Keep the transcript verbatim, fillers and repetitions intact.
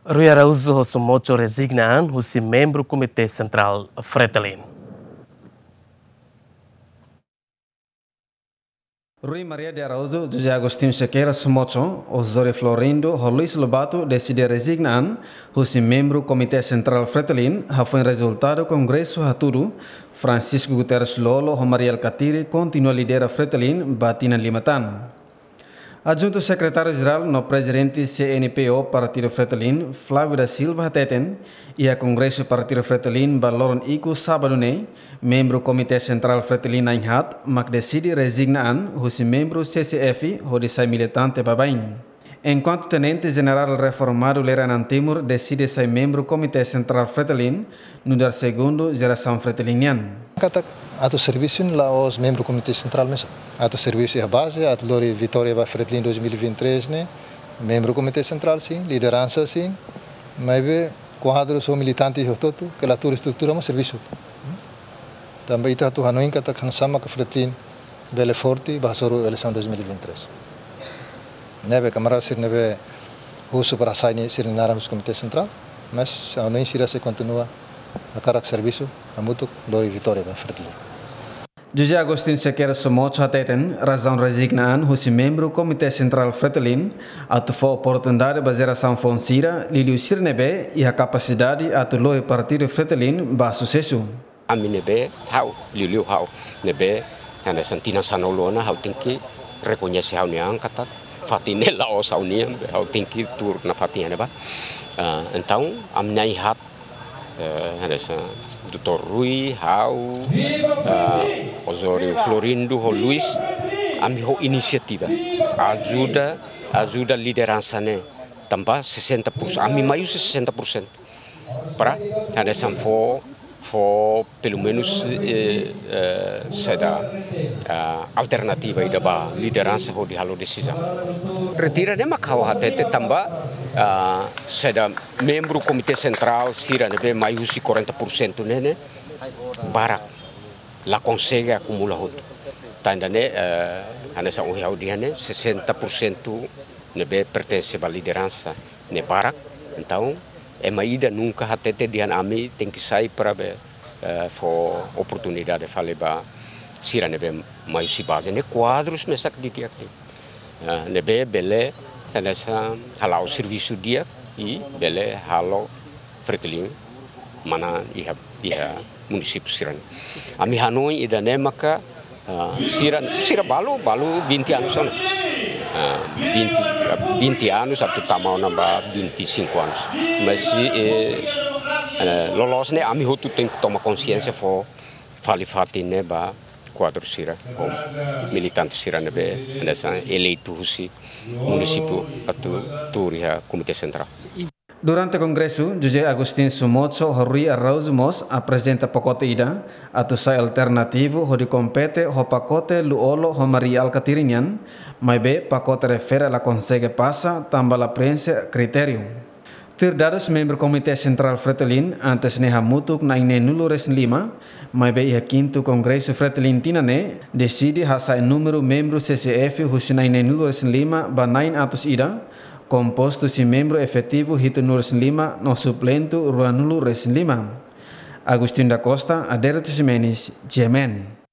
Rui Araújo ho Somocho rezigna an husi membru Komité Sentrál Fretilin. Rui Maria de Araújo, José Agostinho Sequeira Somocho, Osório Florindo ho Luis Lobato deside rezigna an husi membru Komité Sentrál Fretilin, hafoin rezultadu kongresu hatudu Francisco Guterres Lú-Olo ho Mari Alkatiri kontinua lidera Fretilin ba tinan lima tan. Adjuntu Sekretáriu Jerál no Prezidente C N P O Partidu Fretilin, Flávio da Silva hateten, iha kongresu Partidu Fretilin ba loron ikus sábadu ne'e, membru Komité Sentrál Fretilin na'in-haat mak deside rezigna an husi membru C C F hodi sai militante baibain. Enkuantu Tenente Jenerál reformadu Lere Anan Timur deside sai membru Komité Sentrál Fretilin, nu'udar segundu jerasaun Fretilin nian. Katak atu servisu la'ós membru Komité Sentrál mesak. Atu servisu iha baze, atu lori vitória ba Fretilin dois mil e vinte e três ne'e, membru Komité Sentrál sin, lideransa sin, maibé kuadru ho militante hotu-hotu, kala tuur estrutura mós servisu. Tanba ita atu hanoin katak hanesan mak Fretilin bele forte ba hasoru eleisaun dois mil e vinte e três. Ne'ebé kamarada sira ne'ebé husu para sai nia sira-nia naran husi Komité Sentrál, mas ha'u hanoin sira sei kontinua hakarak servisu hamutuk lori vitória ba Fretilin. José Agostinho Sequeira Somocho hateten, razaun rezigna an husi membru Komité Sentrál Fretilin atu fó oportunidade ba jerasaun foun sira, liuliu sira ne'ebé iha kapasidade atu lori Partidu Fretilin ba susesu. Ami ne'ebé ha'u, liuliu ha'u ne'ebé hanesan tinan sanulu ona, ha'u tenke rekoñese ha'u-nia an katak fatin ne'e la'ós ha'u-nian, ha'u tenke tuur nafatin iha ne'ebá. Ah, entaun, ami na'in-haat, eh, hanesan doutór Rui, ha'u, ah, Osório Florindo ho Luis, ami ho inisiativa ajuda, ajuda lideransa ne'e tanba sesenta por cento, ami mai husi sesenta por cento. Para hanesan fó, fó pelumenus, eh, eh, saida, ah, alternativa ida ba lideransa hodi halo desizaun. Retira ne'e mak ha'u hatete tanba, ah, saida membru Komité Sentrál sira ne'ebé mai husi quarenta por cento ne'e, ne'e barak, la konsege akumula hotu. Tan ida-ne'e, eh, hanesan ohin ha'u dehan ne'e, sesenta por cento ne'ebé pertense ba lideransa ne'e barak. Entaun, ema ida nunka hatete dehan ami tenke sai para be, eh, fó oportunidade fali ba sira ne'ebé mai husi baze ne'e, kuadrus mesak didi'ak de'it. Eh, ne'ebé bele hanesan hala'o servisu di'ak i bele halo Fretilin manán iha, iha munisípiu sira-ne'e. Ami hanoin ida-ne'e maka, ah, sira, sira balu, balu vinte anos ona. Ah, vinte, vinte anos atu tama ona ba vinte e cinco anos. Mas, eh, eh, loloos ne'e ami hotu tenke toma konsiénsia fó fali fatin ne'e ba kuadru sira, ou militante sira ne'ebé hanesan eleitu husi munisípiu atu tuur iha Komité Sentrál. Durante kongresu, José Agostinho Somocho ho Rui Araújo mós aprezenta pakote ida atu sai alternativu hodi kompete ho pakote Lú-Olo ho Mari Alkatiri nian, maibé pakote refere la konsege pasa tanba la preenxe kritériu. Tuir dadus membru Komité Sentrál Fretilin, antes ne'e hamutuk na'in neenulu-resin-lima, maibé iha kintu kongresu Fretilin tinan ne'e deside hasa'e númeru membru C C F husi na'in neenulu-resin-lima ba na'in atus ida, kompostu husi membru efetivu hitunulu-resin-lima no suplentu ruanulu-resin-lima. Agostinho da Costa, Adérito Ximenes, G M N.